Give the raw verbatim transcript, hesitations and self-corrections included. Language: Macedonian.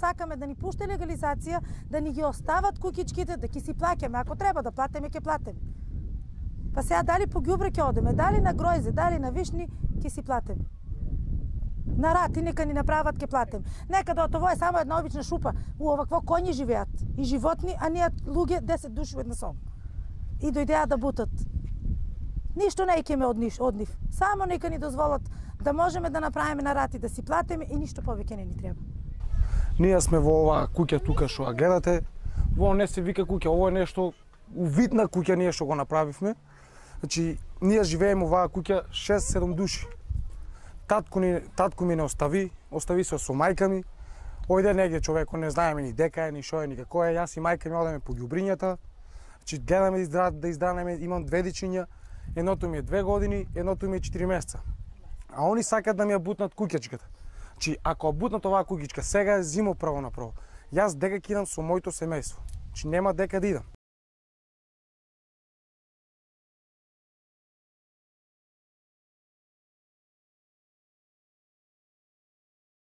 сакаме да ни пуште легализација, да ни ги остават куќичките, да ќе си плаќаме, ако треба да платиме, ќе платиме. Па сега дали по ѓубре ќе одеме, дали на гројзе, дали на вишни, ќе си платиме. На рати нека ни направат ќе платиме. Нека да ово е само една обична шупа, у овакво коњи живеат и животни, а ние луѓе десет души една сом. И дојдеа да бутат. Ништо не икеме од нив, од нив. Само нека ни дозволат да можеме да направиме на рати, да си платиме и ништо повеќе не ни треба. Ние сме во оваа куќа тука што ја гледате. Во не се вика куќа, ово е нешто увидна куќа ние што го направивме. Значи, ние живееме оваа куќа шест-седум души. Татко, ни, татко ми не остави, остави се со мајка ми. Ојде негде човеко, не знаеме ни дека е, ни шо е, ни како е. Јас и мајка ми одеме по ѓубрињата. Значи, гледаме да, издра, да изданеме, имам две дечиња. Едното ми е две години, едното ми е четири месеца. А они сакат да ми ја бутнат куќичката. Значи, ако бутнат оваа куќичка, сега е зимо право направо. Јас дека ќе идам со моето семејство. Значи, нема дека да идам.